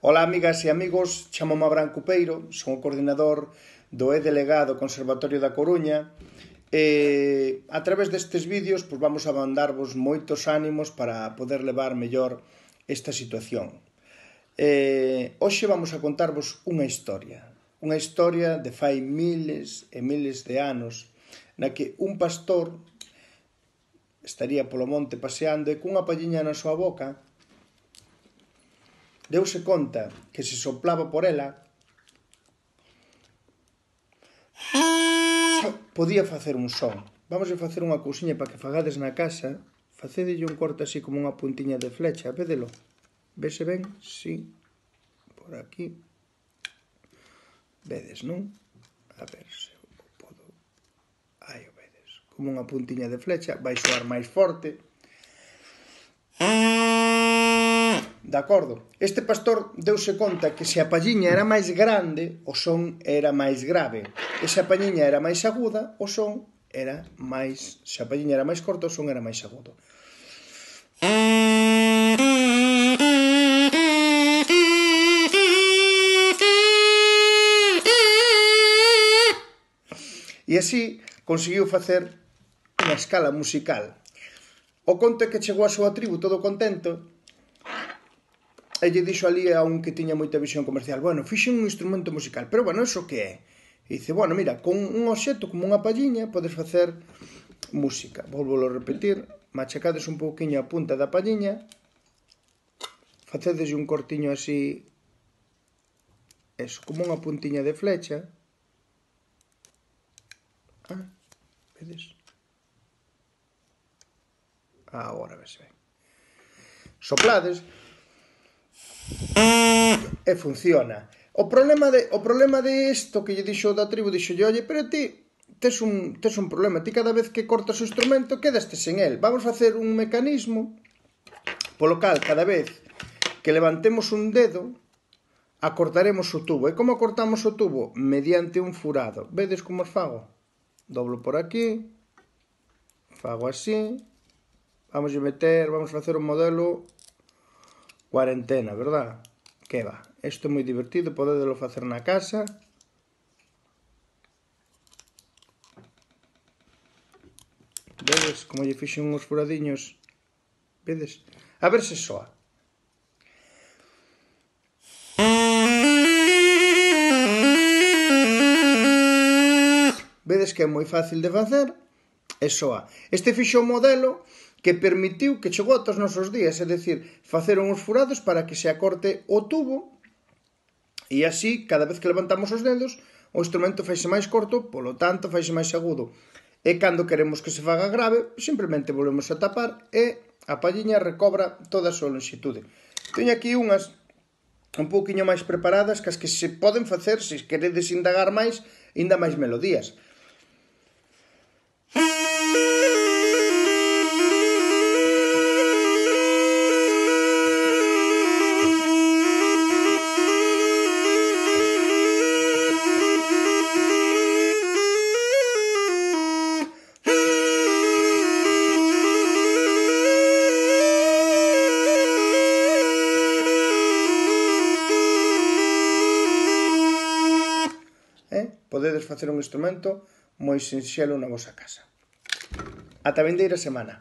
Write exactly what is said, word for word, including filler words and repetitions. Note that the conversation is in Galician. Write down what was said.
Ola amigas e amigos, chamome Abraham Cupeiro, son o coordinador do E-Delegado Conservatorio da Coruña e a través destes vídeos pois, vamos a mandarvos moitos ánimos para poder levar mellor esta situación. E, hoxe vamos a contarvos unha historia, unha historia de fai miles e miles de anos na que un pastor estaría polo monte paseando e cunha palliña na súa boca deuse conta que se soplaba por ela podía facer un son. Vamos a facer unha cousiña para que fagades na casa. Facedelle un corte así como unha puntiña de flecha, védelo. Vese ben? Sí. Por aquí. Vedes, non? A ver se o podo... Aí o vedes. Como unha puntiña de flecha. Vai soar máis forte. De acordo? Este pastor deuse conta que se a palliña era máis grande, o son era máis grave. E se a palliña era máis aguda, o son era máis... Se a palliña era máis corta, o son era máis agudo. E así conseguiu facer unha escala musical. O conto é que chegou a súa tribu todo contento e lle dixo ali a un que tiña moita visión comercial: bueno, fixen un instrumento musical, pero bueno, eso que é? E dice, bueno, mira, con un obxecto como unha palliña podes facer música. Volvolo a repetir, machacades un pouquiño a punta da palliña, facedes un cortiño así, eso, como unha puntiña de flecha. Ah, vedes? Agora vese ben. Soplades e funciona. O problema de o problema de isto que lle dixo da tribu, dixolle, oye, pero ti tes un tes un problema, ti cada vez que cortas o instrumento quedaste sen el. Vamos facer un mecanismo polo cal cada vez que levantemos un dedo acortaremos o tubo. E como acortamos o tubo? Mediante un furado. Vedes como os fago? Doblo por aquí, fago así, vamos a meter, vamos a facer un modelo cuarentena, verdad? Que va, isto é moi divertido, podedelo facer na casa. Vedes como lle fixen uns furadiños? Vedes? A ver se soa. Vedes que é moi fácil de facer e soa. Este fixo o modelo que permitiu que chegou ata os nosos días, é dicir, facer uns furados para que se acorte o tubo e así, cada vez que levantamos os dedos, o instrumento faise máis corto, polo tanto, faise máis agudo. E cando queremos que se faga grave, simplemente volvemos a tapar e a palliña recobra toda a súa longitude. Teño aquí unhas un pouquiño máis preparadas que as que se poden facer, se queredes indagar máis, ainda máis melodías. Eh? Podedes facer un instrumento moi sinxelo na vosa casa. Ata a vindeira semana.